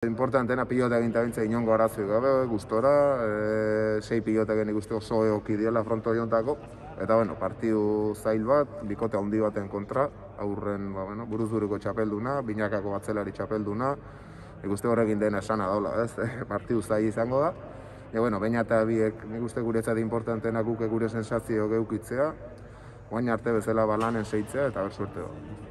Importantena pilota eginta bintza inongo arazoik gabe, gustora, 6 pilota egin ikuste oso egoki diela fronto jontako. Eta, partidu zail bat, bikote handi baten kontra, aurren buruzuruko txapelduna, binakako batzelari txapelduna, ikuste horrekin dena esana daula, ez? Partidu zail izango da. Baina eta biek, nik uste guretzat importantena guk gure sensazio geukitzea, guain arte bezala balanen seitzea eta ber suerte da.